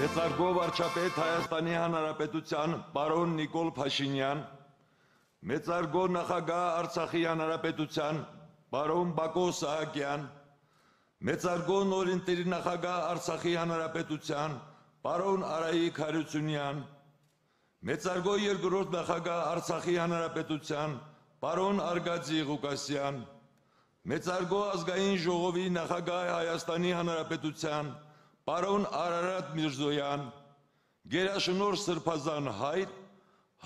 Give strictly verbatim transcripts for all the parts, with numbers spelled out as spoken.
Մեծարգո վարչապետ Հայաստանի Հանրապետության պարոն Նիկոլ Փաշինյան, մեծարգո նախագահ Արցախի Հանրապետության պարոն Բակո Սահակյան, մեծարգո նորընտիր նախագահ Արցախի Հանրապետության պարոն Արայիկ Հարությունյան, մեծարգո երկրորդ նախագահ Արցախի Հանրապետության պարոն Արգադի Ղուկասյան, մեծարգո ազգային ժողովի նախագահ Հայաստանի Հանրապետության պարոն Արարատ Միրզոյան, գերաշնորհ Սրբազան հայր,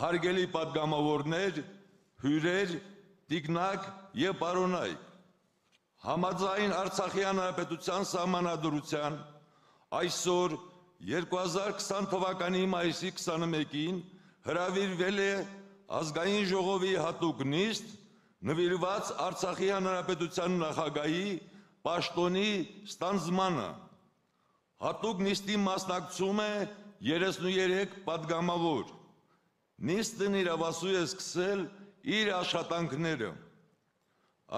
հարգելի պատգամավորներ, հյուրեր, տիկնակ և պարոնայք, համաձայն Արցախի Հանրապետության սահմանադրության այսօր երկու հազար քսան թվականի մայիսի քսանմեկին հրավիրվել է ազգային ժողովի հատուկ նիստ նվիրված Արցախի Հանրապետության նախագահի պաշտոնի ստանձնմանը։ Հատուկ նիստի մասնակցում է երեսնուերեք պատգամավոր։ Նիստն իրավասու է սկսել իր աշխատանքները։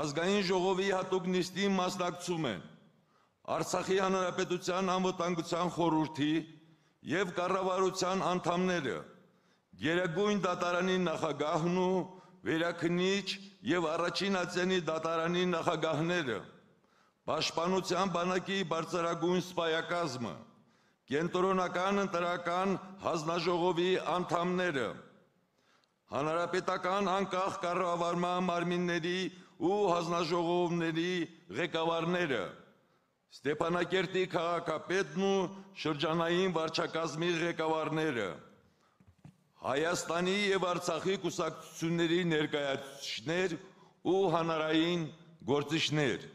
Ազգային ժողովի հատուկ նիստի մասնակցում են Արցախի Հանրապետության անվտանգության խորհրդի և կառավարության անդամները, Գերագույն դատարանի նախագահն ու վերաքննիչ և առաջին ատյանի դատարանի նախագահները, Պաշտպանության բանակի բարձրագույն սպայակազմը, Կենտրոնական ընտրական հանձնաժողովի անդամները, Հանրապետական անկախ կառավարման մարմինների ու հանձնաժողովների ղեկավարները, Ստեփանակերտի քաղաքապետն ու շրջանային վարչակազմի ղեկավարները, Հայաստանի և Արցախի կուսակցությունների ներկայացուցիչներ ու հանրային գործիչներ,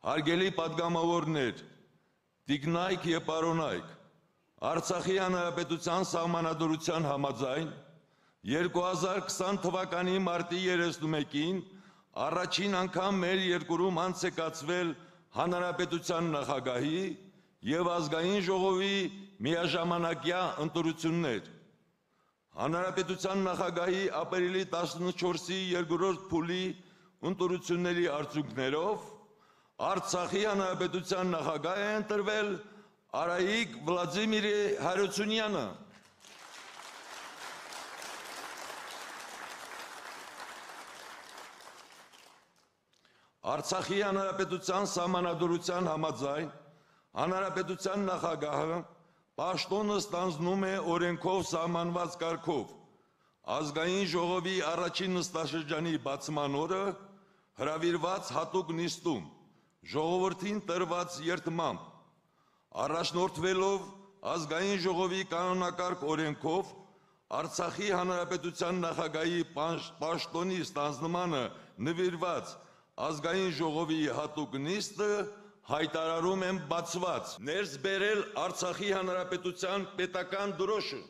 հարգելի պատգամավորներ, տիկնայք և պարոնայք, Արցախի Հանրապետության սահմանադրության համաձայն երկու հազար քսան թվականի մարտի երեսնմեկին առաջին անգամ մեր երկրում անց է կացվել Հանրապետության նախագահի և ազգային ժողովի միաժամանակյա ընտրություններ։ Հանրապետության նախագահի ապրիլի տասնչորսի երկրորդ փուլի ընտրությունների արդյունքներով Արցախի Հանրապետության նախագահ է ընտրվել Արայիկ Վլադիմիր Հարությունյանը։ Արցախի Հանրապետության սահմանադրության համաձայն Հանրապետության նախագահը պաշտոնը ստանձնում է օրենքով սահմանված կարգով ազգային ժողովի առաջին նստաշրջանի բացման օրը հրավիրված հատուկ նիստում ժողովրդին տրված երդմամբ, առաջնորդվելով ազգային ժողովի կանոնակարգ օրենքով Արցախի Հանրապետության նախագահի պաշտոնի ստանձնմանը նվիրված ազգային ժողովի հատուկ նիստը հայտարարում եմ բացված։ Ներս բերել Արցախի Հանրապետության պետական դրոշը։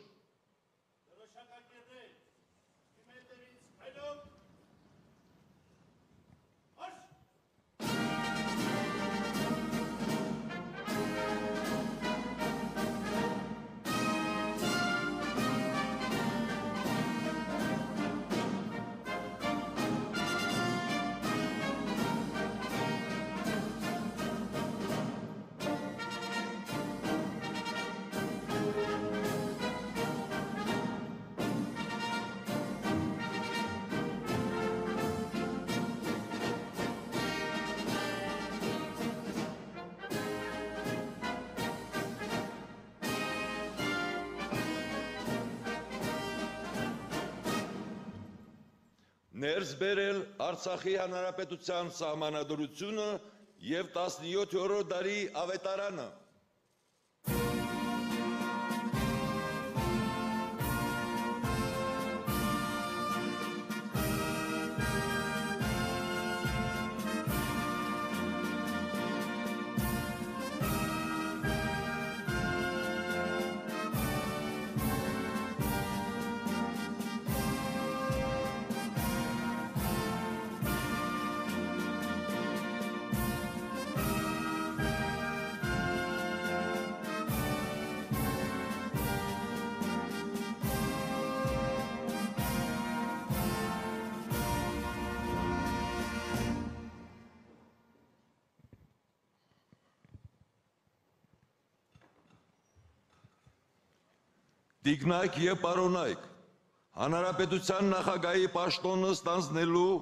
Ներս բերել Արցախի Հանրապետության սահմանադրությունը և տասնյոթերորդ դարի ավետարանը։ Տիկնայք եւ պարոնայք, Հանրապետության նախագահի պաշտոնը ստանձնելու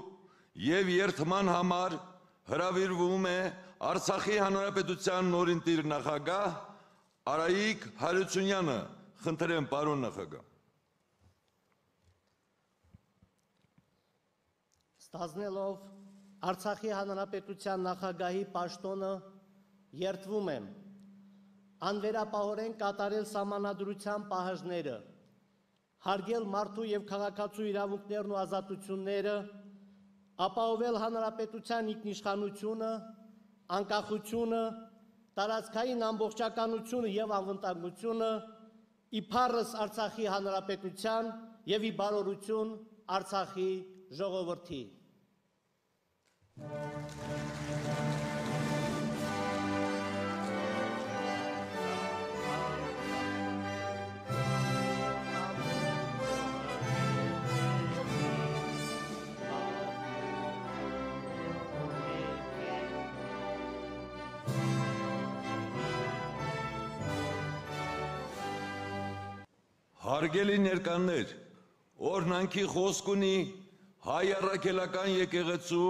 եւ երթման համար հրավիրվում է Արցախի Հանրապետության նորընտիր նախագահ Արայիկ Հարությունյանը, խնդրեմ պարոն նախագահ։ Ստանձնելով Արցախի Հանրապետության նախագահի պաշտոնը երդվում եմ անվերապահորեն կատարել սահմանադրության պահանջները, հարգել մարդու եւ քաղաքացու իրավունքներն ու ազատությունները, ապահովել հանրապետության ինքնիշխանությունը, անկախությունը, տարածքային ամբողջականությունը եւ անվտանգությունը, իբարս Արցախի Հանրապետության եւ ի բարօրություն Արցախի ժողովրդի։ Հարգելի ներկաներ, օրհնանքի խոսք ունի հայ առաքելական եկեղեցու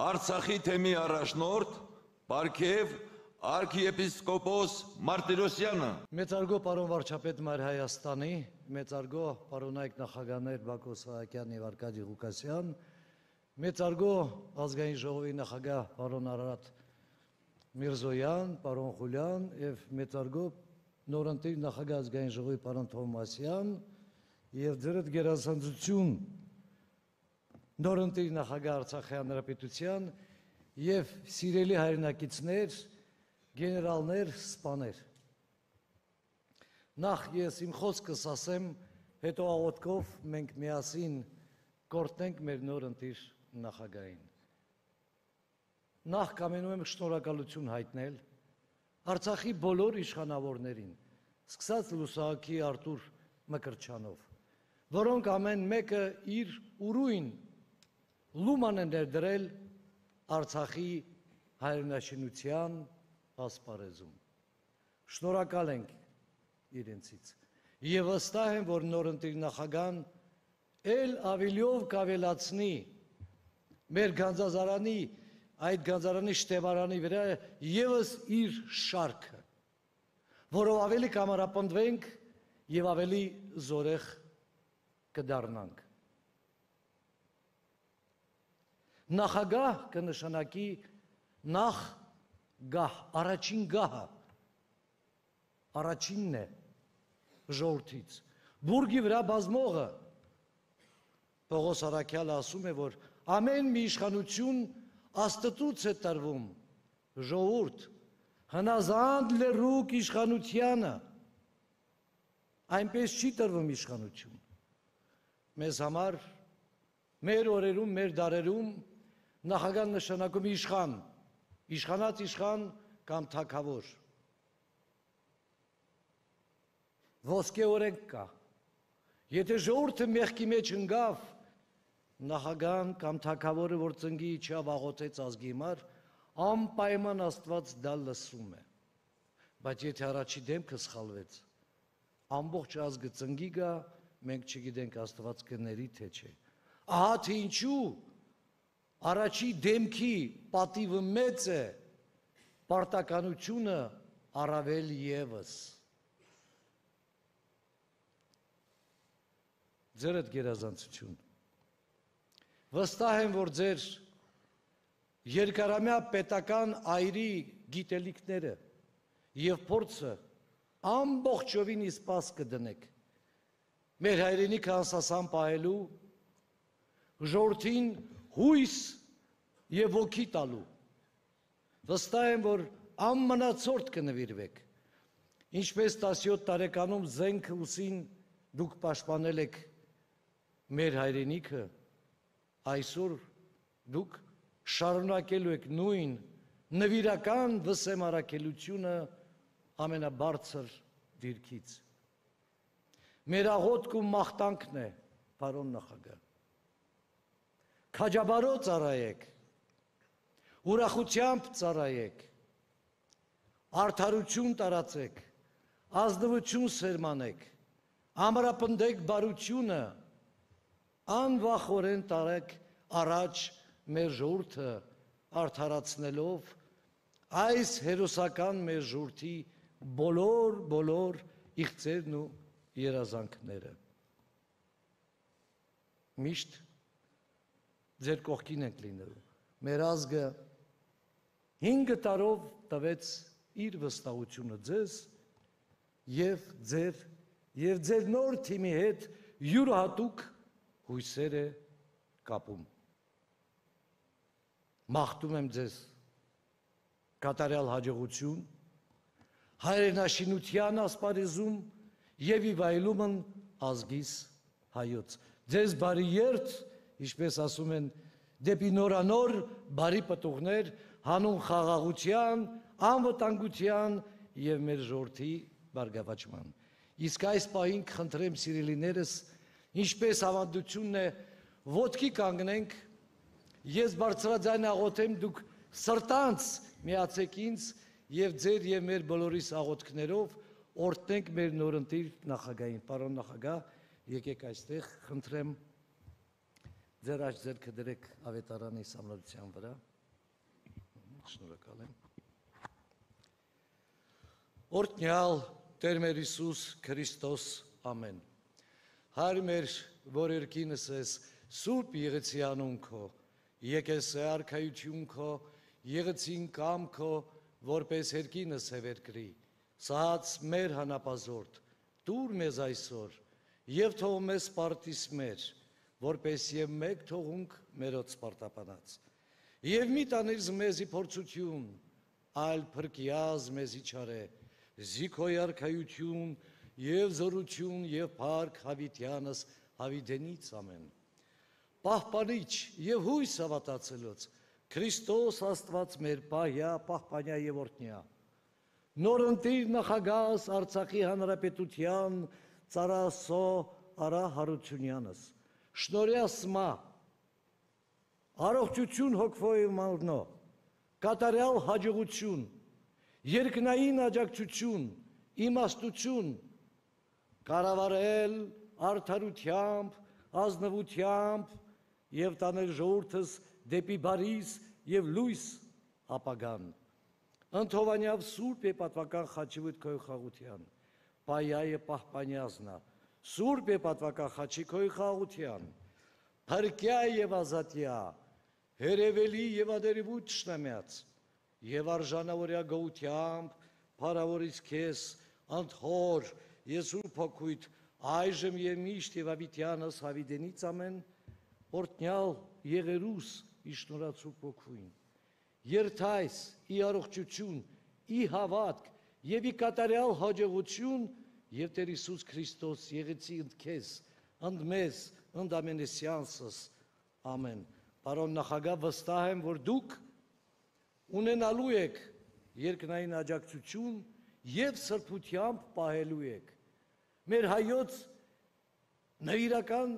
Արցախի թեմի առաջնորդ Պարքև արքիեպիսկոպոս Մարտիրոսյանը։ Մեծարգո պարոն վարչապետ Մայր Հայաստանի, մեծարգո պարոնայք նախագահներ Բակո Սահակյան եւ Արկադի Ղուկասյան, մեծարգո ազգային ժողովի նախագահ պարոն Արարատ Միրզոյան, պարոն Խուլյան եւ մեծարգո նորընտիր նախագահ ազգային ժողովի պարոն Թովմասյան եւ ձերդ գերազանցություն նորընտիր նախագահ Արցախի Հանրապետության եւ սիրելի հայրենակիցներ, գեներալներ, սպաներ։ Նախ ես իմ խոսքս ասեմ, հետո աղոթքով մենք միասին կորտնենք մեր նորընտիր նախագահին։ Նախ կամենում եմ շնորհակալություն հայտնել Արցախի բոլոր իշխանավորներին, սկսած Լուսահոգի Արտուր Մկրտչյանով, որոնք ամեն մեկը իր ուրույն լուման են ներդրել Արցախի հայրենաշինության ասպարեզում։ Շնորհակալ ենք իրենցից եւ վստահ եմ, որ նորընտիր նախագահան ել ավելիով կավելացնի մեր գանձազարանի այդ գանձարանի շտեվարանի վրա եւս իր շարքը, որով ավելի կամարապնդվենք եւ ավելի զորեղ կդառնանք։ Նախագահ կնշանակի նախ գահ, առաջին գահը, առաջինն է ժողովրդից։ Բուրգի վրա բազմողը Պողոս Արաքյալը ասում է, որ ամեն մի իշխանություն Աստծուց է տրվում, ժողովուրդ, հնազանդ լրուկ իշխանությանը, այնպես չի տրվում իշխանություն։ Մեզ համար, մեր օրերում, մեր դարերում նախագահ նշանակում իշխան, իշխանած իշխան կամ թագավոր։ Ոսկե օրենք կա։ Եթե ժողովուրդը մեղքի մեջ ընկավ, նախագահան կամ թագավորը, որ ծնգի իջավ աղոթեց ազգի համար, անպայման Աստված դա լսում է։ Բայց եթե առաջի դեմքը սխալվեց, ամբողջ ազգը ծնգի գա, մենք չգիտենք Աստված կների թե չէ։ Ահա թե ինչու առաջի դեմքի պատիվը մեծ է, պարտականությունը առավել ևս։ Ձերդ գերազանցություն։ Վստահ եմ, որ ձեր երկարամյա պետական այրի գիտելիքները եւ փորձը ամբողջովին իսպաս կդնեք մեր հայրենիքը անսասան պահելու, ժողովրդին հույս եւ ոգի տալու։ Վստահ եմ, որ անմնացորդ կնվիրվեք, ինչպես տասնյոթ տարեկանում զենք ուսին դուք պաշտպանել եք մեր հայրենիքը, այսօր դուք շարունակելու եք նույն նվիրական վսեմարակելությունը ամենաբարձր դիրքից։ Մեր աղոթք ու մաղթանքն է, պարոն նախագահ։ Քաջաբարո ծառայեք, ուրախությամբ ծառայեք, արդարություն տարածեք, ազնվություն սերմանեք, ամրապնդեք բարությունը, անվախորեն տարեք առաջ մեր ժողովուրդը արդարացնելով այս հերոսական մեր ժողովրդի բոլոր բոլոր իղձերն ու երազանքները։ Միշտ ձեր կողքին ենք լինելու։ Մեր ազգը հինգ տարով տվեց իր վստահությունը ձեզ եւ ձեր եւ ձեր նոր թիմի հետ յուրահատուկ հույսեր է կապում։ Մաղթում եմ ձեզ կատարյալ հաջողություն, հայրենաշինության ասպարեզում եւ ի վայելումն ազգիս հայոց։ Ձեզ բարի երթ, ինչպես ասում են, դեպի նորանոր բարի պտուղներ, հանուն խաղաղության, անվտանգության եւ մեր ժողովրդի բարգավաճման։ Իսկ այս պահին խնդրեմ սիրելիներս, ինչպես ավանդությունն է, ոտքի կանգնենք, ես բարձրաձայն աղոթեմ, դուք սրտանց միացեք ինձ եւ ձեր եւ մեր բոլորիս աղոթքներով օրհնենք մեր նորընտիր նախագահին։ Պարոն նախագահ, եկեք այստեղ, խնդրեմ ձեր աջ ձեռքը դրեք ավետարանի սամլության վրա։ Շնորհակալ եմ։ Օրհնյալ Տեր մեր Հիսուս Քրիստոս, ամեն։ Հայր մեր, որ երկինս ես, սուրբ եղեցի անուն քո, եկես է արքայություն քո, եղեցին կամ քո, որպես երկինս է վերկրի, սահաց մեր հանապազորդ, տուր մեզ այսօր, եւ թող մեզ պարտիս մեր, որպես եւ մեկ թողունք մերոց պարտապանած։ Եվ մի տանիր մեզի փորձություն, այլ փրկիազ մեզի չարե, զիքոյ արքայություն եւ զորություն եւ փառք հավիտյանս հավիտենից ամեն։ Պահպանիչ եւ հույս հավատացելոց Քրիստոս Աստված մեր պահյա, պահպանյա եւ օրհնյա։ Նորընտիր նախագահ Արցախի Հանրապետության Ծարասո Արա Հարությունյանս, շնորհյասմա, առողջություն հոգվոյ մարմնո, կատարյալ հաջողություն, երկնային աջակցություն, իմաստություն, կառավարել արդարությամբ, ազնվությամբ եւ տանել ժողովրդս դեպի բարիս եւ լույս ապագան։ Ընթովանյավ սուրբ եւ պատվական խաչի քոյ խաղության, պայայը պահպանյազնա, սուրբ եւ պատվական խաչի քոյ խաղության, փրկյա եւ ազատյա, հերևելի եւ ադերևուտ շնամյաց, եւ արժանավորյա գոությամբ, փառավորից քեզ, անթոր, Եսու փոքույթ, այժմ եւ միշտ եւ ավիտյանս հավիտենից ամեն, օրհնյալ եղերուս ի շնորհացու փոքվին։ Երթայս ի առողջություն, ի հավատք եւ ի կատարյալ հաջողություն եւ Տեր Հիսուս Քրիստոս եղեցի ընդ քեզ, ընդ մեզ, ընդ ամենեսյանսս, ամեն։ Պարոն նախագահ, վստահ եմ, որ դուք ունենալու եք երկնային աջակցություն եւ սրբությամբ պահելու եք մեր հայոց նվիրական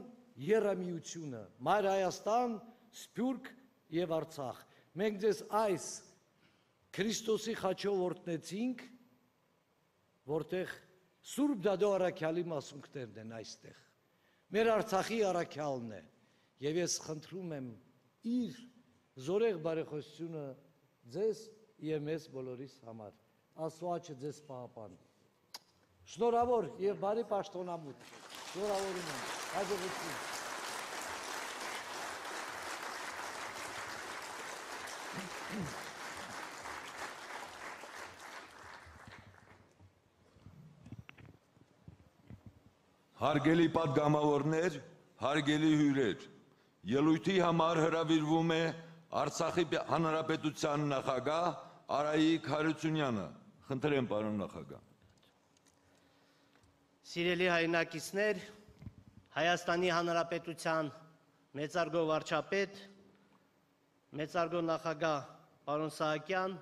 եռամիությունը, Մայր Հայաստան, Սփյուռք եւ Արցախ։ Մենք ձեզ այս Քրիստոսի խաչով օրհնեցինք, որտեղ Սուրբ Դադո առաքյալի մասունքներն են այստեղ։ Մեր Արցախի առաքյալն է եւ ես խնդրում եմ իր զորեղ բարեխոսությունը ձեզ եւ մեզ բոլորիս համար։ Աստծո աչքը ձեզ պահապան։ Շնորհավոր եւ բարի պաշտոնամուտ։ Շնորհավորում եմ։ Հաջողություն։ Հարգելի պատգամավորներ, հարգելի հյուրեր, ելույթի համար հրավիրվում է Արցախի Հանրապետության նախագահ Արայիկ Հարությունյանը։ Խնդրեմ, պարոն նախագահ։ Սիրելի հայրենակիցներ, Հայաստանի Հանրապետության մեծարգո վարչապետ, մեծարգո նախագահ պարոն Սահակյան,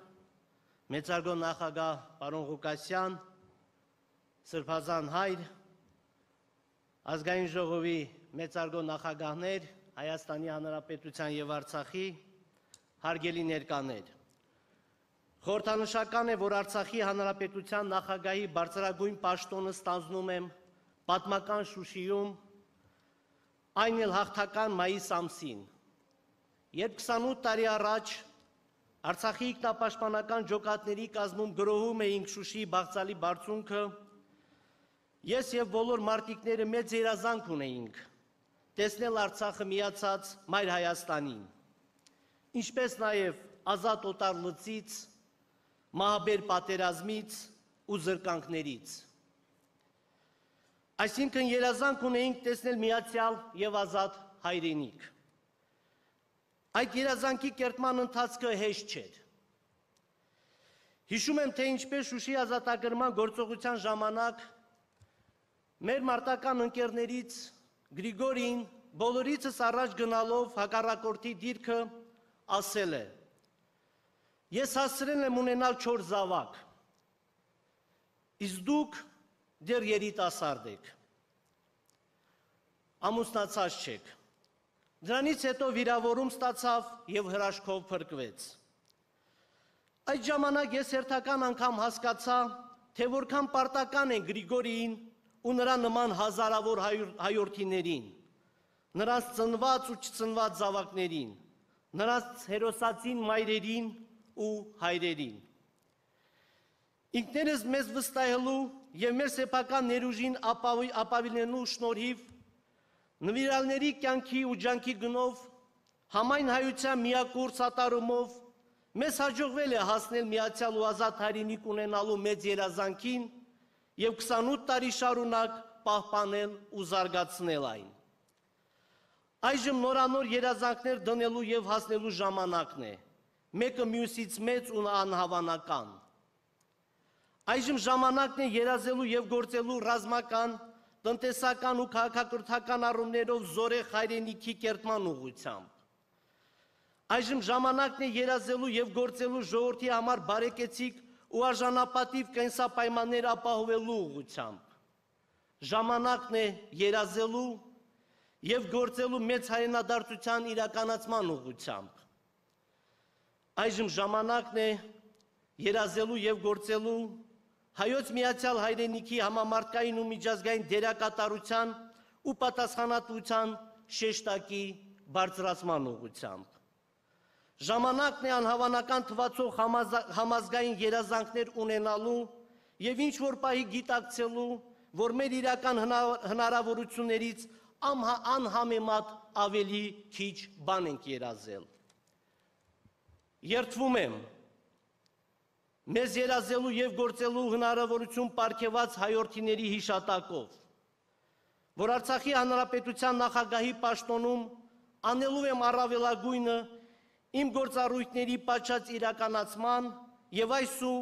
մեծարգո նախագահ պարոն Ղուկասյան, Սրբազան հայր, ազգային ժողովի մեծարգո նախագահներ, Հայաստանի Հանրապետության եւ Արցախի, հարգելի ներկաներ։ Խորհրդանշական է, որ Արցախի Հանրապետության նախագահի բարձրագույն պաշտոնը ստանձնում եմ պատմական Շուշիում, այն էլ հաղթական մայիս ամսին, երբ քսանութ տարի առաջ Արցախի ինքնապաշտպանական ջոկատների կազմում գրոհում էինք Շուշիի Բաղձալի բարձունքը, ես եւ բոլոր մարտիկները մեծ երազանք ունեինք տեսնել Արցախը միացած Մայր Հայաստանին, ինչպես նաեւ ազատ օտար լծից, մահաբեր պատերազմից ու զրկանքներից։ Այսինքն երազանք ունեինք տեսնել միացյալ եւ ազատ հայրենիք։ Այդ երազանքի կերտման ընթացքը հեշտ չէր։ Հիշում եմ, թե ինչպես Շուշի ազատագրման գործողության ժամանակ մեր մարտական ընկերներից Գրիգորին բոլորիցս առաջ գնալով հակառակորդի դիրքը ասել է. ես հասցրել եմ ունենալ չորս զավակ, իսկ դուք դեռ երիտասարդ եք, ամուսնացած չեք։ Դրանից հետո վիրավորում ստացավ եւ հրաշքով փրկվեց։ Այդ ժամանակ ես հերթական անգամ հասկացա, թե որքան պարտական են Գրիգորիին ու նրա նման հազարավոր հայորդիներին, նրանց ծնված ու չծնված զավակներին, նրանց հերոսացին մայրերին ու հայրերին։ Ինքներս մեզ վստահելու եւ մեր սեփական ներուժին ապավինելու շնորհիվ նվիրալների կյանքի ու ջանքի գնով, համայն հայության միակուր սատարումով մեզ հաջողվել է հասնել միացյալ ու ազատ հայրենիք ունենալու մեծ երազանքին եւ քսանութ տարի շարունակ պահպանել ու զարգացնել այն։ Այժմ նորանոր երազանքներ դնելու եւ հասնելու ժամանակն է, մեկը մյուսից մեծ ու անհավանական։ Այժմ ժամանակն է երազելու եւ գործելու ռազմական, տնտեսական ու քաղաքակրթական առումներով զորեղ հայրենիքի կերտման ուղղությամբ։ Այժմ ժամանակն է երազելու եւ գործելու ժողովրդի համար բարեկեցիկ ու արժանապատիվ կենսապայմաններ ապահովելու ուղղությամբ։ Ժամանակն է երազելու եւ գործելու մեծ հայրենադարձության իրականացման ուղղությամբ։ Այժմ ժամանակն է երազելու եւ գործելու Հայոց միացյալ հայրենիքի համամարտկային ու միջազգային դերակատարության ու պատասխանատվության շեշտակի բարձրացման ուղղությամբ։ Ժամանակն է անհավանական թվացող համազգային երազանքներ ունենալու եւ ինչ որ պահի գիտակցելու, որ մեր իրական հնարավորություններից անհամեմատ ավելի քիչ բան ենք երազել։ Երդվում եմ մեզ երազելու եւ գործելու հնարավորություն պարգեւած հայորդիների հիշատակով, որ Արցախի Հանրապետության նախագահի պաշտոնում անելու եմ առավելագույնը իմ գործառույթների պատշաճ իրականացման եւ այսու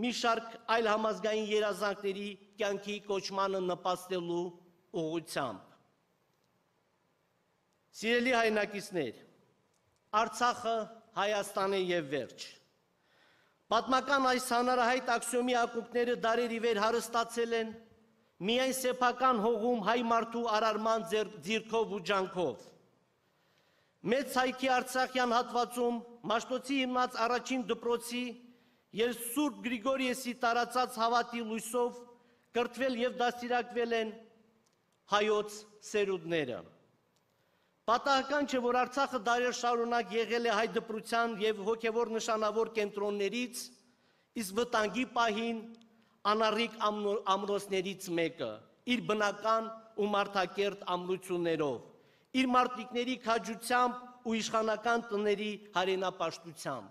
մի շարք այլ համազգային երազանքների կյանքի կոչմանը նպաստելու ուղղությամբ։ Սիրելի հայրենակիցներ, Արցախը Հայաստան է եւ վերջ։ Պատմական այս հանրահայտ աքսիոմի ակունքները դարերի վեր հարստացել են միայն սեփական հողում հայ մարդու արարման ձիրքով ու ջանքով։ Մեծ հայքի Արցախյան հատվածում Մաշտոցի հիմնած առաջին դպրոցի եւ Սուրբ Գրիգորիեսի տարածած հավատի լույսով կրթվել եւ դաստիարակվել են հայոց սերունդները։ Պատահական չէ, որ Արցախը դարեր շարունակ եղել է հայ դպրության եւ հոգեվոր նշանավոր կենտրոններից, իսկ վտանգի պահին անառիկ ամրոցներից մեկը, իր բնական ու մարդակերտ ամրություններով, իր մարտիկների քաջությամբ ու իշխանական տների հայրենապաշտությամբ։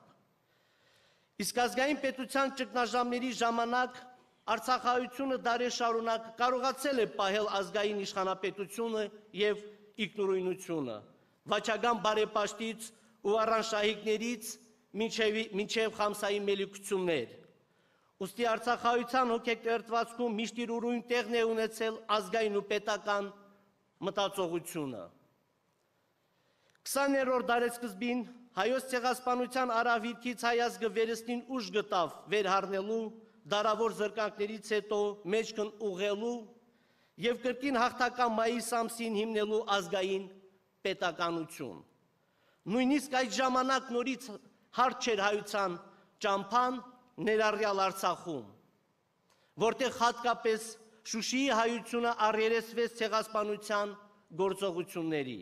Իսկ ազգային պետության ճգնաժամերի ժամանակ Արցախահայությունը դարեր շարունակ կարողացել է պահել ազգային իշխանապետությունը եւ ինքնուրույնությունը, վաճական բարեպաշտից ու առանշահիկներից մինչև խամսայի մելիքություններ։ Ուստի Արցախահայության հոգեկերտվածքում միշտ իր ուրույն տեղն է ունեցել ազգային ու պետական մտածողությունը։ քսաներորդ դարեսկզբին հայոց ցեղասպանության արավիրքից հայ ազգը վերստին ուժ գտավ վերհառնելու, դարավոր զրկանքներից հետո մեջքն ուղղելու եւ կրկին հաղթական մայիս ամսին հիմնելու ազգային պետականություն։ Նույնիսկ այդ ժամանակ նորից հարթ չէր հայության ճամփան ներառյալ Արցախում, որտեղ հատկապես Շուշիի հայությունը առերեսվեց ցեղասպանության գործողությունների։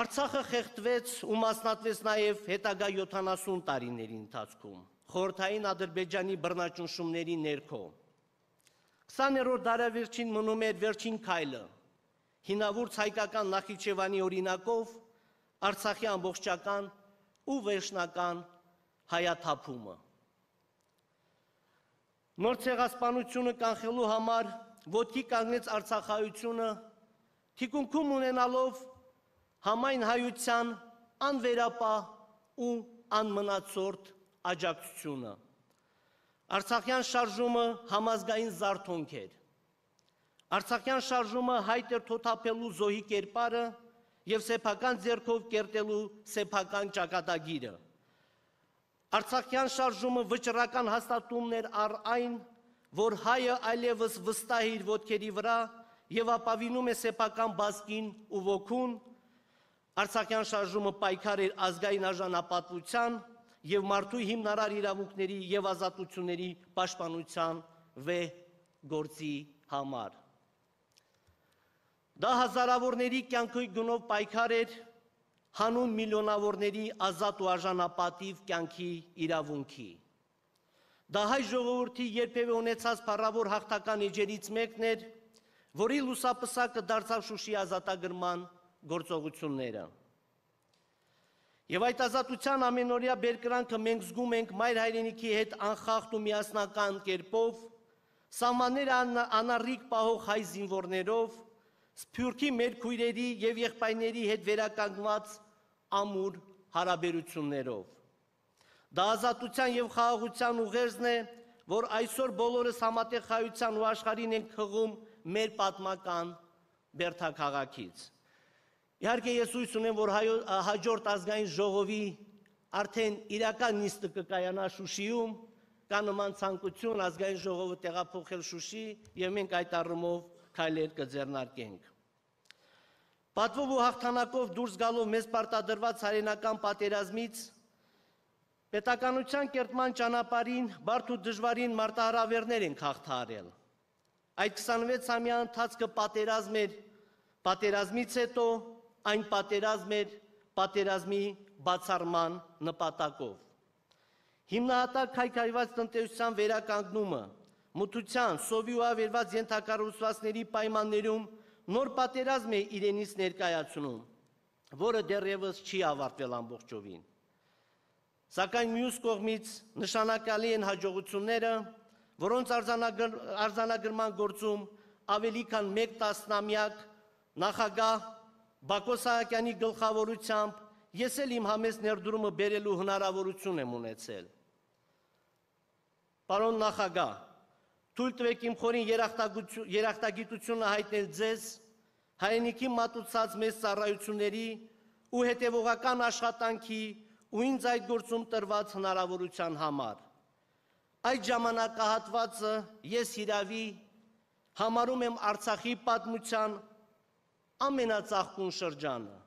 Արցախը խեղդվեց ու մասնատվեց նաև հետագա յոթանասուն տարիների ընթացքում, խորհրդային Ադրբեջանի բռնաճնշումների ներքո։ քսաներորդ դարավերջին մնում էր վերջին քայլը, հինավուրց հայկական Նախիջևանի օրինակով Արցախի ամբողջական ու վերջնական հայաթափումը։ Նոր ցեղասպանությունը կանխելու համար ոտքի կանգնեց արցախայությունը, թիկունքում ունենալով համայն հայության անվերապահ ու անմնացորդ աջակցությունը։ Արցախյան շարժումը համազգային զարթոնք էր։ Արցախյան շարժումը հայտ էր թոթափելու զոհի կերպարը և սեփական ձեռքով կերտելու սեփական ճակատագիրը։ Արցախյան շարժումը վճռական հաստատումն էր առ այն, որ հայը այլևս վստահ է իր ոտքերի վրա և ապավինում է սեփական բազկին ու ոգուն։ Արցախյան շարժումը պայքար էր ազգային արժանապատվության և մարդու հիմնարար իրավունքների և ազատությունների պաշտպանության վեհ գործի համար։ Դա հազարավորների կյանքի գնով պայքար էր հանուն միլիոնավորների ազատ ու արժանապատիվ կյանքի իրավունքի։ Դա հայ ժողովրդի երբևէ ունեցած փառավոր հաղթական էջերից մեկն էր, որի լուսապսակը դարձավ Շուշիի ազատագրման գործողությունները։ Եվ այդ ազատության ամենօրյա բերկրանքը մենք զգում ենք մայր հայրենիքի հետ անխախտ ու միասնական կերպով, սահմանները անառիկ պահող հայ զինվորներով, Սփյուռքի մեր քույրերի և եղբայրների հետ վերականգնված ամուր հարաբերություններով։ Դա ազատության և խաղաղության ուղերձն է, որ այսօր բոլորս համատեղ խաղաղության ու աշխարհին ենք հղում մեր պատմական բերդաքաղաքից։ Իհարկե ես հույս ունեմ, որ հաջորդ ազգային ժողովի արդեն իրական նիստը կկայանա Շուշիում, կա նման ցանկություն ազգային ժողովը տեղափոխել Շուշի և մենք այդ առումով քայլեր կձեռնարկենք։ Պատվով ու հաղթանակով դուրս գալով մեզ պարտադրված հայրենական պատերազմից պետականության կերտման ճանապարհին բարդ ու դժվարին մարտահրավերներ ենք հաղթահարել։ Այդ քսանվեց ամյա ընթացքը պատերազմ էր, պատերազմից հետո այն պատերազմ էր պատերազմի բացառման նպատակով։ Հիմնահատակ քայքայված տնտեսության վերականգնումը, մթության, սովի ու ավերված ենթակառուցվածքների պայմաններում նոր պատերազմ է իրենից ներկայացնում, որը դեռևս չի ավարտվել ամբողջովին։ Սակայն մյուս կողմից նշանակալի են հաջողությունները, որոնց արձանագրման գործում ավելի քան մեկ տասնամյակ նախագահ Բակո Սահակյանի գլխավորությամբ ես էլ իմ համեստ ներդրումը բերելու հնարավորություն եմ ունեցել։ Պարոն նախագահ, թույլ տվեք իմ խորին երախտագիտությունը հայտնել ձեզ հայրենիքի մատուցած մեծ ծառայությունների ու հետևողական աշխատանքի ու ինձ այդ գործում տրված հնարավորության համար։ Այդ ժամանակահատվածը ես հիրավի համարում եմ Արցախի պատմության ամենածաղկուն շրջանը։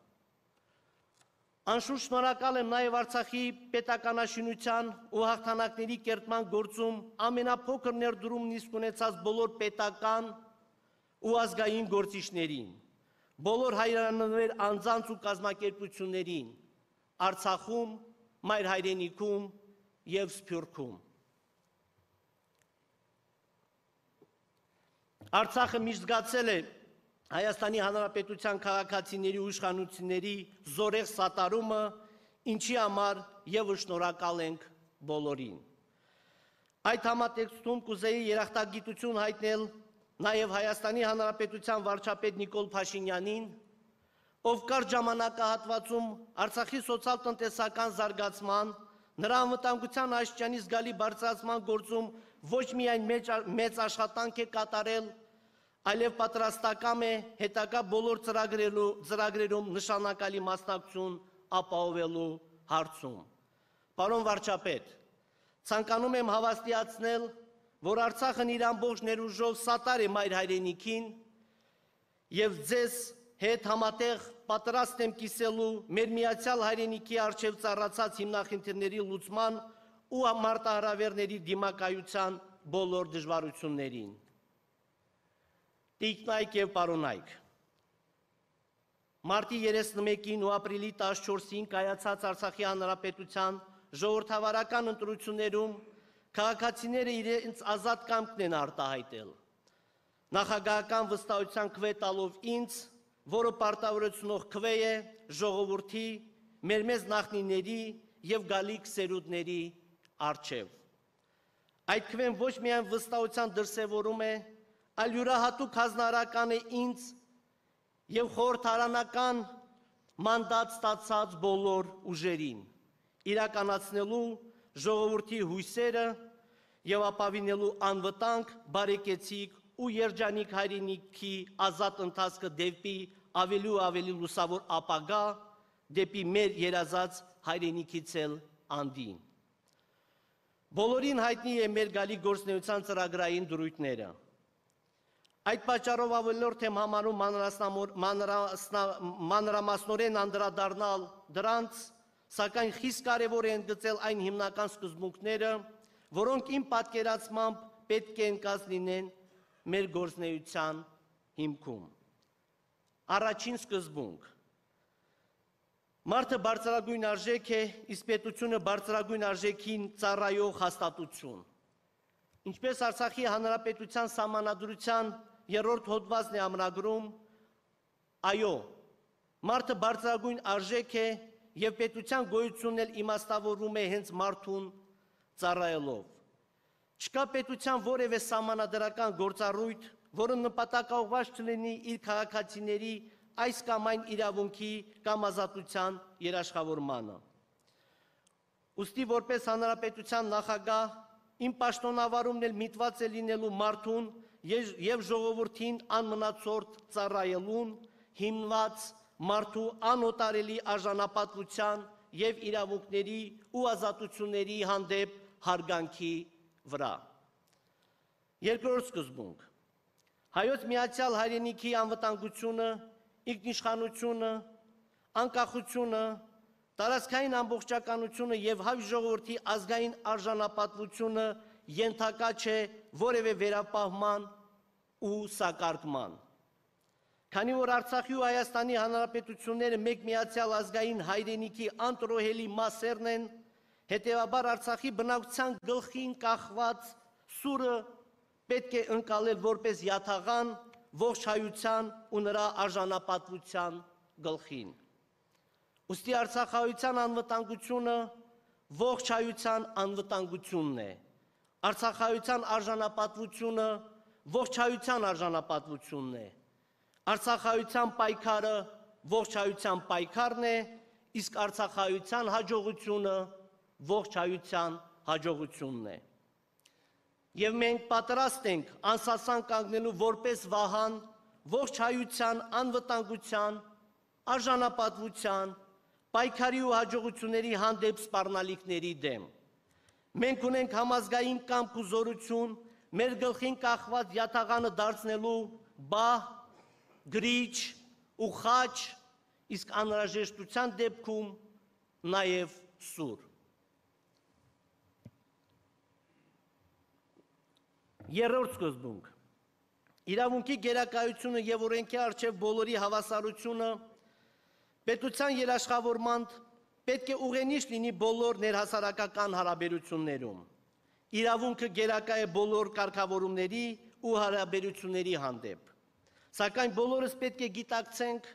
Անշուշտ շնորհակալ եմ նաև Արցախի պետականաշինության ու հաղթանակների կերտման գործում ամենափոքր ներդրումն իսկ ունեցած բոլոր պետական ու ազգային գործիչներին, բոլոր հայրենասեր անձանց ու կազմակերպություններին, Արցախում, մայր հայրենիքում և Սփյուռքում։ Արցախը միշտ զգացել է Հայաստանի Հանրապետության քաղաքացիների ու իշխանությունների զորեղ սատարումը, ինչի համար ևս շնորհակալ ենք բոլորին։ Այդ համատեքստում կուզեի երախտագիտություն հայտնել նաև Հայաստանի Հանրապետության վարչապետ Նիկոլ Փաշինյանին, ով կարճ ժամանակահատվածում Արցախի սոցիալ-տնտեսական զարգացման, նրա անվտանգության աստիճանի զգալի բարձրացման գործում ոչ միայն մեծ աշխատանք է կատարել, այլև պատրաստակամ է հետագա բոլոր ծրագրերում նշանակալի մասնակցություն ապահովելու հարցում։ Պարոն վարչապետ, ցանկանում եմ հավաստիացնել, որ Արցախն իր ամբողջ ներուժով սատար է մայր հայրենիքին և ձեզ հետ համատեղ պատրաստ եմ կիսելու մեր միացյալ հայրենիքի առջև ծառացած հիմնախնդիրների լուծման ու մարտահրավերների դիմակայության բոլոր դժվարություններին։ Տիկնայք եւ պարոնայք։ Մարտի երեսնմեկին ու ապրիլի տասնչորսին կայացած Արցախի Հանրապետության ժողովրդավարական ընտրություններում քաղաքացիները իրենց ազատ կամքն են արտահայտել։ Նախագահական վստահության քվե տալով ինձ, որը պարտավորեցնող քվե է ժողովրդի, մեր մեծ նախնիների եւ գալիք սերունդների առջև։ Այդ քվեն ոչ միայն վստահության դրսևորում է, այլ յուրահատուկ հանրարական է ինձ եւ խորհրդարանական մանդատ ստացած բոլոր ուժերին, իրականացնելու ժողովրդի հույսերը եւ ապավինելու անվտանգ, բարեկեցիկ ու երջանիկ հայրենիքի ազատ ընթացքը դեպի ավելի ու ավելի լուսավոր ապագա, դեպի մեր երազած հայրենիքից էլ անդին։ Բոլորին հայտնի է մեր գալի գործնեության ծրագրային դրույթները։ Այդ պատճառով ավելորդ եմ համարում մանրամասնորեն անդրադառնալ դրանց, սակայն խիստ կարևոր է ընդգծել այն հիմնական սկզբունքները, որոնք իմ պատկերացմամբ պետք է ընկած լինեն մեր գործնեության հիմքում։ Առաջին սկզբունք. մարդը բարձրագույն արժեք է, իսկ պետությունը բարձրագույն արժեքին ծառայող հաստատություն։ Ինչպես Արցախի Հանրապետության Սահմանադրության երրորդ հոդվածն է ամրագրում, այո, մարդը բարձրագույն արժեք է եւ պետության գոյությունն էլ իմաստավորվում է հենց մարդուն ծառայելով։ Չկա պետության որևէ սահմանադրական գործառույթ, որը նպատակաուղղված չլինի իր քաղաքացիների այս կամ այն իրավունքի կամ ազատության երաշխավորմանը։ Ուստի որպես հանրապետության նախագահ իմ պաշտոնավարումն էլ միտված է լինելու մարդուն եւ ժողովրդին անմնացորդ ծառայելուն, հիմնված մարդու անօտարելի արժանապատվության եւ իրավունքների ու ազատությունների հանդեպ հարգանքի վրա։ Երկրորդ սկզբունք. հայոց միացյալ հայրենիքի անվտանգությունը, ինքնիշխանությունը, անկախությունը, տարածքային ամբողջականությունը եւ հայ ժողովրդի ազգային արժանապատվությունը ենթակա չէ որևէ վերապահման ու սակարկման։ Քանի որ Արցախի ու Հայաստանի Հանրապետությունները մեկ միացյալ ազգային հայրենիքի անտրոհելի մասերն են, հետևաբար Արցախի բնակության գլխին կախված սուրը պետք է ընկալել որպես յաթաղան ողջ հայության ու նրա արժանապատվության գլխին։ Ուստի արցախահայության անվտանգությունը ողջ հայության անվտանգությունն է։ Արցախահայության արժանապատվությունը ողջ հայության արժանապատվությունն է։ Արցախահայության պայքարը ողջ հայության պայքարն է, իսկ արցախահայության հաջողությունը ողջ հայության հաջողությունն է։ Եվ մենք պատրաստ ենք անսասան կանգնելու որպես վահան ողջ հայության անվտանգության, արժանապատվության, պայքարի ու հաջողությունների հանդեպ սպառնալիքների դեմ։ Մենք ունենք համազգային կամք ու զորություն մեր գլխին կախված յաթաղանը դարձնելու բահ, գրիչ ու խաչ, իսկ անհրաժեշտության դեպքում նաև սուր։ Երրորդ սկզբունք. իրավունքի գերակայությունը եւ օրենքի առջև բոլորի հավասարությունը պետության երաշխավորման պետք է ուղենիշ լինի բոլոր ներհասարակական հարաբերություններում։ Իրավունքը գերակա է բոլոր կարգավորումների ու հարաբերությունների հանդեպ։ Սակայն բոլորս պետք է գիտակցենք,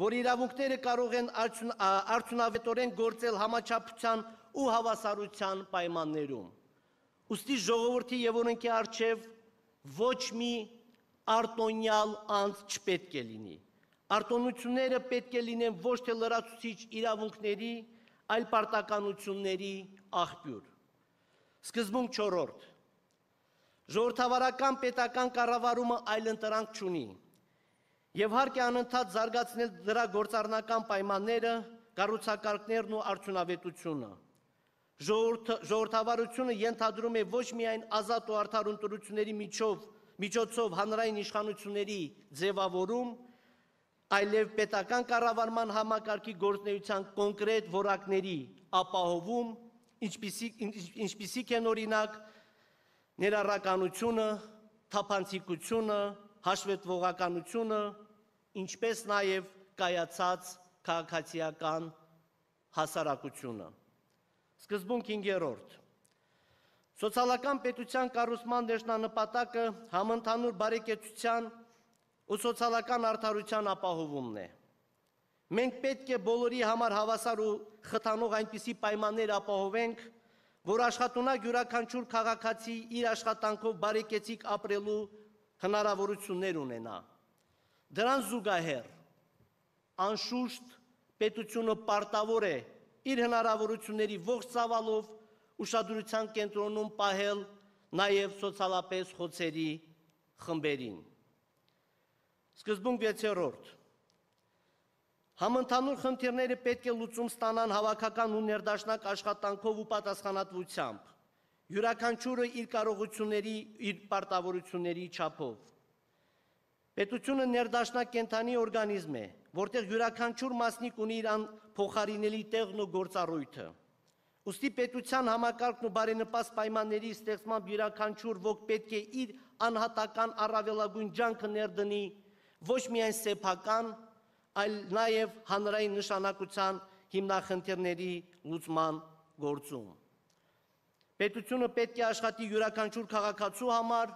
որ իրավունքները կարող են արդյունավետորեն գործել համաչափության ու հավասարության պայմաններում։ Ուստի ժողովրդի եւ օրենքի առջև ոչ մի արտոնյալ անձ չպետք է լինի։ Արտոնությունները պետք է լինեն ոչ թե լրացուցիչ իրավունքների, այլ պարտականությունների աղբյուր։ Սկզբունք չորրորդ. ժողովրդավարական պետական կառավարումը այլընտրանք չունի եւ հարկ է անընդհատ զարգացնել դրա գործառնական պայմանները, կառուցակարգներն ու արդյունավետությունը։ Ժողովրդավարությունը ենթադրում է ոչ միայն ազատ ու արդար ընտրությունների միջոցով հանրային իշխանությունների ձևավորում, այլև պետական կառավարման համակարգի գործունեության կոնկրետ որակների ապահովում, ինչպիսիք են օրինակ ներառականությունը, թափանցիկությունը, հաշվետվողականությունը, ինչպես նաև կայացած քաղաքացիական հասարակությունը։ Սկզբունք հինգերորդ։ Սոցիալական պետության կառուցման ներշնանպատակը համընդհանուր բարեկեցության ու սոցիալական արդարության ապահովումն է։ Մենք պետք է բոլորի համար հավասար ու խթանող այնպիսի պայմաններ ապահովենք, որ աշխատունակ յուրաքանչյուր քաղաքացի իր աշխատանքով բարեկեցիկ ապրելու հնարավորություններ ունենա։ Դրան զուգահեռ, անշուշտ պետությունը պարտավոր է իր հնարավորությունների ողջ ծավալով ուշադրության կենտրոնում պահել նաև սոցիալապես խոցերի խմբերին։ Սկզբունք վեցերորդ։ Համընդհանուր խնդիրները պետք է լուծում ստանան հավաքական ու ներդաշնակ աշխատանքով ու պատասխանատվությամբ, յուրաքանչյուրը իր կարողությունների, իր պարտավորությունների չափով։ Պետությունը ներդաշնակ կենդանի օրգանիզմ է, որտեղ յուրաքանչյուր մասնիկ ունի իր փոխարինելի տեղն ու գործառույթը։ Ուստի պետության համակարգն ու բարենպաստ պայմանների ստեղծմամբ յուրաքանչյուր ոք պետք է իր անհատական առավելագույն ջանքը ներդնի ոչ միայն սեփական, այլ նաև հանրային նշանակության հիմնախնդիրների լուծման գործում։ Պետությունը պետք է աշխատի յուրաքանչյուր քաղաքացու համար,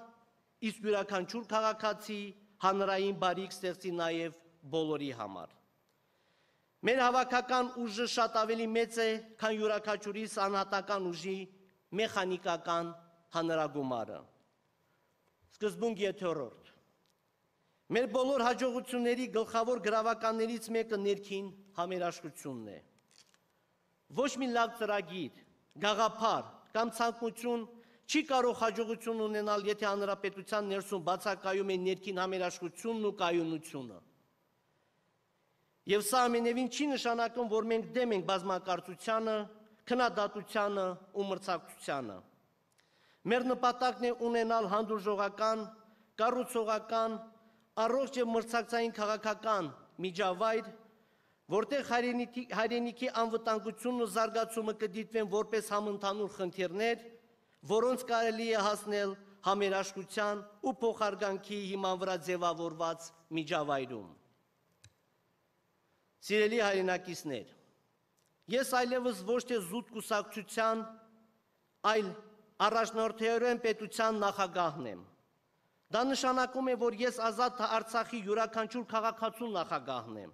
իսկ յուրաքանչյուր քաղաքացի հանրային բարիք ստեղծի նաև բոլորի համար։ Մեր հավաքական ուժը շատ ավելի մեծ է, քան յուրաքանչյուրիս անհատական ուժի մեխանիկական հանրագումարը։ Սկզբունք յոթերորդ։ Մեր բոլոր հաջողությունների գլխավոր գրավականներից մեկը ներքին համերաշխությունն է։ Ոչ մի լավ ծրագիր, գաղափար կամ ցանկություն չի կարող հաջողություն ունենալ, եթե հանրապետության ներսում բացակայում է ներքին համերաշխությունն ու կայունությունը։ Եվ սա ամենևին չի նշանակում, որ մենք դեմ ենք բազմակարծությանը, քննադատությանը ու մրցակցությանը։ Մեր նպատակն է ունենալ հանդուրժողական, կառուցողական, առողջ եւ մրցակցային քաղաքական միջավայր, որտեղ հայրենիքի անվտանգությունն ու զարգացումը կդիտվեն որպես համընդհանուր խնդիրներ, որոնց կարելի է հասնել համերաշխության ու փոխարգանքի հիման վրա ձևավորված միջավայրում։ Սիրելի հայրենակիցներ, ես այլևս ոչ թե զուտ կուսակցության, այլ առաջնորդորեն պետության նախագահն եմ։ Դա նշանակում է, որ ես ազատ Արցախի յուրաքանչյուր քաղաքացու նախագահն եմ,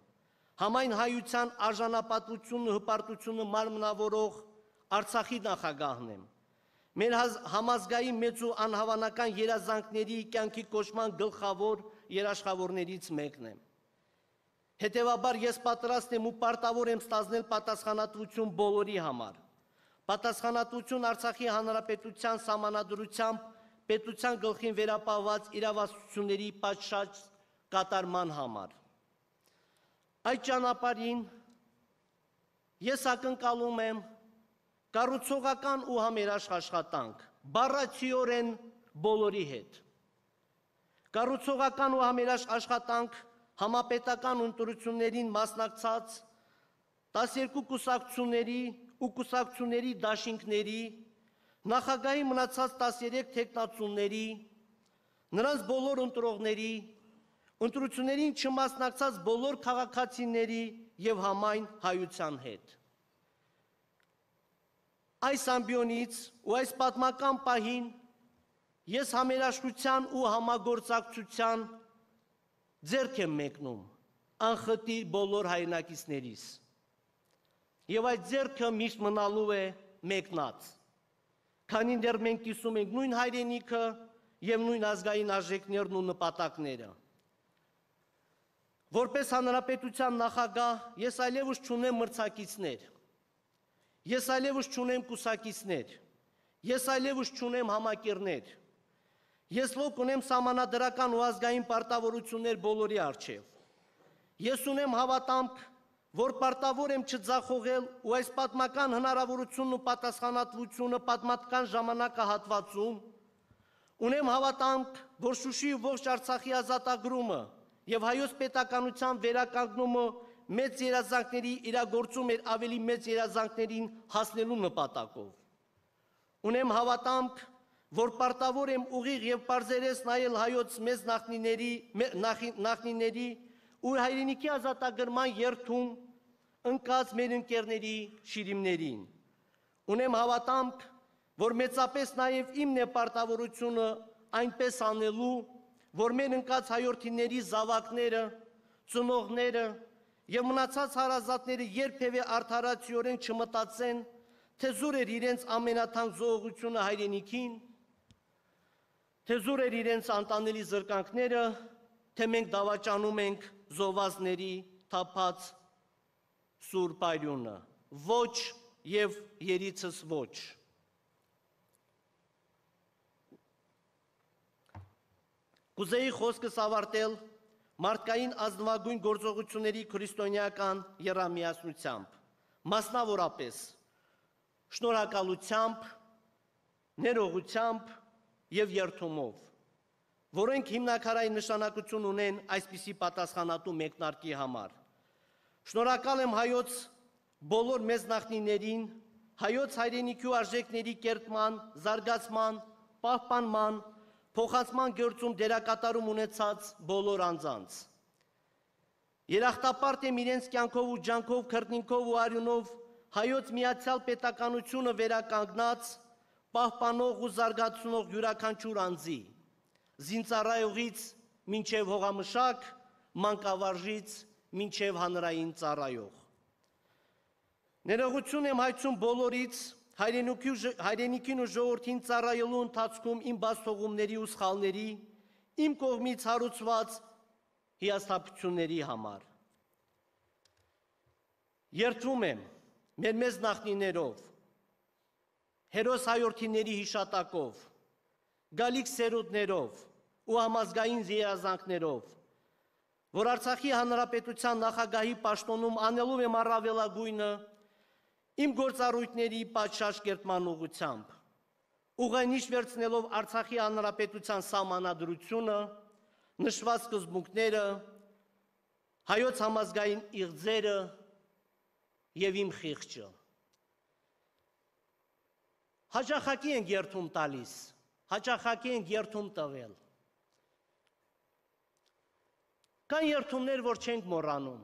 համայն հայության արժանապատվությունը, հպարտությունը մարմնավորող Արցախի նախագահն եմ, մեր համազգային մեծ ու անհավանական երազանքների կյանքի կոչման գլխավոր երաշխավորներից մեկն եմ։ Հետևաբար ես պատրաստ եմ ու պարտավոր եմ ստանձնել պատասխանատվություն բոլորի համար, պատասխանատվություն Արցախի հանրապետության սահմանադրությամբ պետության գլխին վերապահված իրավասությունների պատշաճ կատարման համար։ Այդ ճանապարհին ես ակնկալում եմ կառուցողական ու համերաշխ աշխատանք, բառացիորեն բոլորի հետ։ Կառուցողական ու համերաշխ աշխատանք համապետական ընտրություններին մասնակցած տասներկու կուսակցությունների ու կուսակցությունների դաշինքների, նախագահի մնացած տասներեք թեկնածուների, նրանց բոլոր ընտրողների, ընտրություններին չմասնակցած բոլոր քաղաքացիների և համայն հայության հետ։ Այս ամբիոնից ու այս պատմական պահին ես համերաշխության ու համագործակցության ձեռք եմ մեկնում անխտիր բոլոր հայրենակիցներիս, և այդ ձեռքը միշտ մնալու է մեկնած, քանի դեռ մենք կիսում ենք նույն հայրենիքը և նույն ազգային արժեքներն ու նպատակները։ Որպես հանրապետության նախագահ ես այլևս չունեմ մրցակիցներ, ես այլևս չունեմ կուսակիցներ, ես այլևս չունեմ համակիրներ, ես ողջ ունեմ սահմանադրական ու ազգային պարտավորություններ բոլորի առջև։ Ես ունեմ հավատամք, որ պարտավոր եմ չձախողել ու այս պատմական հնարավորությունն ու պատասխանատվությունը պատմական ժամանակահատվածում, ունեմ հավատամք, որ Շուշիի ողջ Արցախի ազատագրումը և հայոց պետականության վերականգնումը մեծ երազանքների իրագործում էր ավելի մեծ երազանքներին հասնելու նպատակով։ Ունեմ հավատամք, որ պարտավոր եմ ուղիղ եւ պարզերես նայել հայոց մեծ նախնիների նախնիների ու հայրենիքի ազատագրման երթում ընկած մեր ընկերների շիրիմներին։ Ունեմ հավատամք, որ մեծապես նաեւ իմն է պարտավորությունը այնպես անելու, որ մեր ընկած հայրենիների զավակները, ծնողները եւ մնացած հարազատները երբևէ արդարացիորեն չմտածեն, թե զուր էր իրենց ամենաթանկ զոհողությունը հայրենիքին, թե զուր էր իրենց անտանելի զրկանքները, թե մենք դավաճանում ենք զոհվածների թափած սուրբ արյունը, ոչ եւ երիցս ոչ։ Կուզեի խոսքս ավարտել մարդկային ազնվագույն գործողությունների քրիստոնեական եռամիասնությամբ, մասնավորապես շնորհակալությամբ, ներողությամբ եւ երդումով, որոնք հիմնակարային նշանակություն ունեն այսպիսի պատասխանատու մեկնարկի համար։ Շնորհակալ եմ հայոց բոլոր մեծ նախնիներին, հայոց հայրենիքի արժեքների կերտման, զարգացման, պահպանման, փոխանցման գործում դերակատարում ունեցած բոլոր անձանց։ Երախտապարտ եմ իրենց կյանքով ու ջանքով, քրտնինքով ու արյունով հայոց միացյալ պետականությունը վերականգնած, պահպանող ու զարգացնող յուրաքանչյուր անձի, զինծառայողից մինչև հողամշակ, մանկավարժից մինչև հանրային ծառայող։ Ներողություն եմ հայցում բոլորից, հայրենիքին ու ժողովրդին ծառայելու ընթացքում իմ բացթողումների ու սխալների, իմ կողմից հարուցված հիասթափությունների համար։ Երդվում եմ մեր մեծ նախնիներով, հերոս հայրենիների հիշատակով, գալիք սերունդներով ու համազգային երազանքներով, որ Արցախի Հանրապետության նախագահի պաշտոնում անելու եմ առավելագույնը իմ գործառույթների պատշաճ կերտման ուղղությամբ, ուղենիշ վերցնելով Արցախի Հանրապետության սահմանադրությունը, նշված սկզբունքները, հայոց համազգային իղձերը եւ իմ խիղճը։ Հաճախակի ենք երդում տալիս, հաճախակի ենք երդում տվել։ Կան երդումներ, որ չենք մոռանում։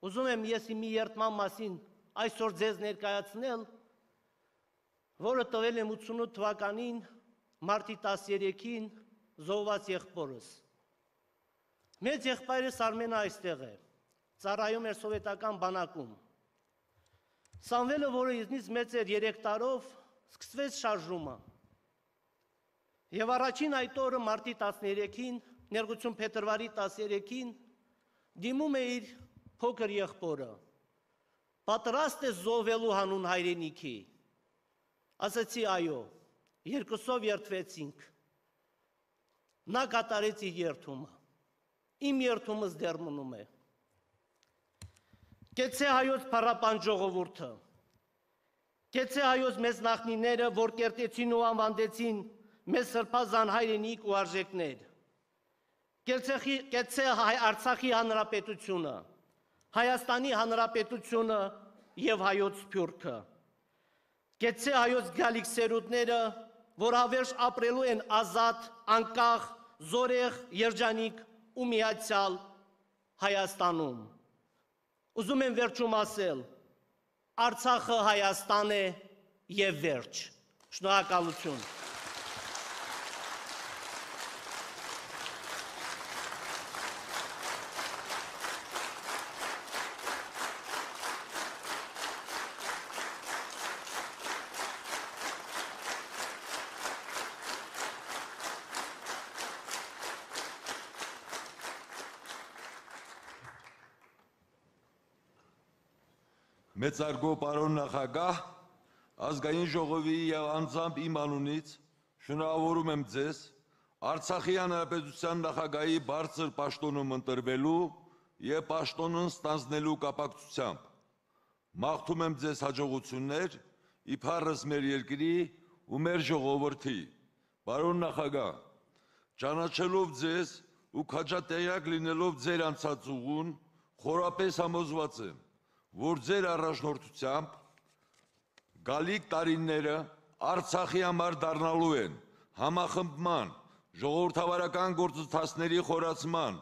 Ուզում եմ ես մի երդման մասին այսօր ձեզ ներկայացնել, որը տվել եմ ութսունութ թվականին մարտի տասներեքին զոհված եղբորս։ Մեծ եղբայրս Արմենը այստեղ է, ծառայում էր սովետական բանակում։ Սամվելը, որը ինձնից մեծ էր երեք տարով, սկսվեց շարժումը։ Եվ առաջին այդ օրը մարտի տասներեքին, ներողություն փետրվարի տասներեքին, դիմում է իր փոքր եղբորը։ Պատրաստ է զոհվելու հանուն հայրենիքի։ Ասացի այո, երկուսով երդվեցինք։ Նա կատարեց իր երդումը։ Իմ երդումս դեռ մնում է։ Կեցե հայոց փառապան ժողովուրդը։ Կեցե հայոց մեծ նախնիները, որ կերտեցին ու անվանդեցին մեզ սրբազան հայրենիք ու արժեքներ։ Կեցե Արցախի Հանրապետությունը, Հայաստանի Հանրապետությունը եւ հայոց սփյուռքը։ Կեցե հայոց գալիք սերունդները, որ հավերժ ապրելու են ազատ, անկախ, զորեղ, երջանիկ ու միացյալ Հայաստանում։ Ուզում եմ վերջում ասել, Արցախը Հայաստան է եւ վերջ։ Շնորհակալություն։ Մեծարգո պարոն նախագահ, ազգային ժողովի եւ անձամբ իմ անունից շնորհավորում եմ ձեզ Արցախի Հանրապետության նախագահի բարձր պաշտոնում ընտրվելու եւ պաշտոնն ստանձնելու կապակցությամբ։ Մաղթում եմ ձեզ հաջողություններ իբարս մեր երկրի ու մեր ժողովրդի։ Պարոն նախագահ, ճանաչելով ձեզ ու քաջատեղյակ լինելով ձեր անցած ուղուն, խորապես համոզված եմ, որ ձեր առաջնորդությամբ գալիք տարիները Արցախի համար դառնալու են համախմբման, ժողովրդավարական գործընթացների խորացման,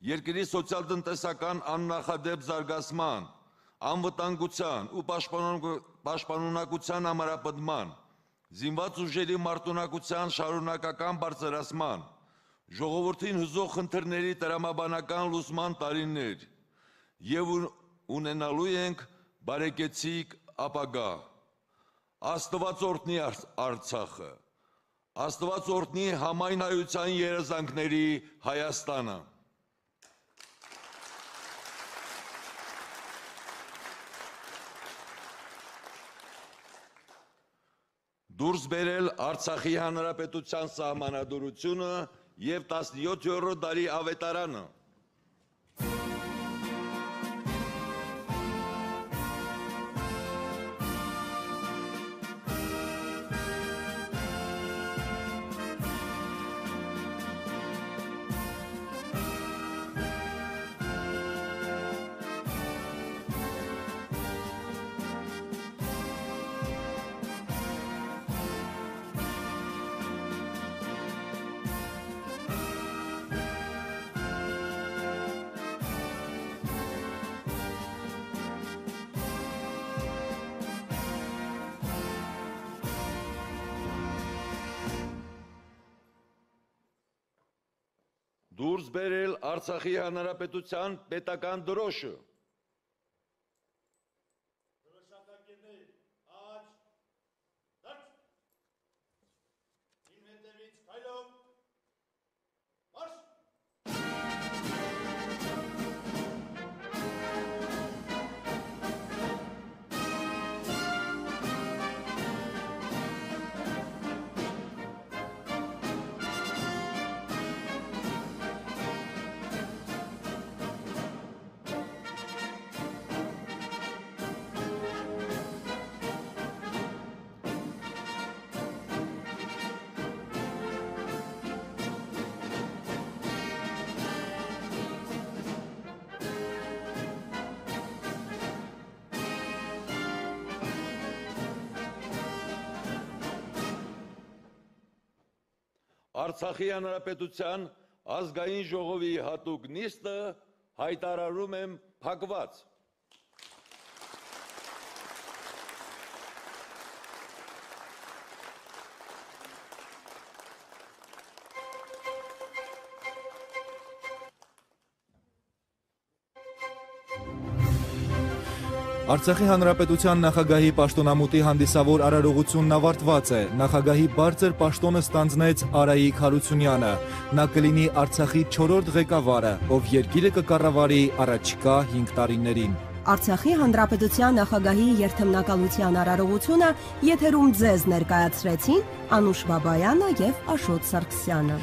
երկրի սոցիալ-տնտեսական աննախադեպ զարգացման, անվտանգության ու պաշտպանունակության համարապնդման, զինված ուժերի մարտունակության շարունակական բարձրացման, ժողովրդին հուզող խնդիրների տրամաբանական լուծման տարիներ եւ ունենալու ենք բարեկեցիկ ապագա։ Աստված օրհնի Արցախը, Աստված օրհնի համայն հայության երազանքների Հայաստանը։ Դուրս բերել Արցախի Հանրապետության սահմանադրությունը եւ տասնյոթերորդ դարի ավետարանը։ Դուրս բերել Արցախի Հանրապետության պետական դրոշը։ Դրոշակակիրներ, աջ, դարձ, իմ հետևից քայլով, մարշ։ Արցախի Հանրապետության ազգային ժողովի հատուկ նիստը հայտարարում եմ փակված։ Արցախի Հանրապետության նախագահի պաշտոնամուտի հանդիսավոր արարողությունն ավարտված է։ Նախագահի բարձր պաշտոնը ստանձնեց Արայիկ Հարությունյանը։ Նա կլինի Արցախի չորրորդ ղեկավարը, ով երկիրը կկառավարի առաջիկա հինգ տարիներին։ Արցախի Հանրապետության նախագահի երթմնակալության արարողությունը եթերում ձեզ ներկայացրեցին Անուշ Բաբայանը եւ Աշոտ Սարգսյանը։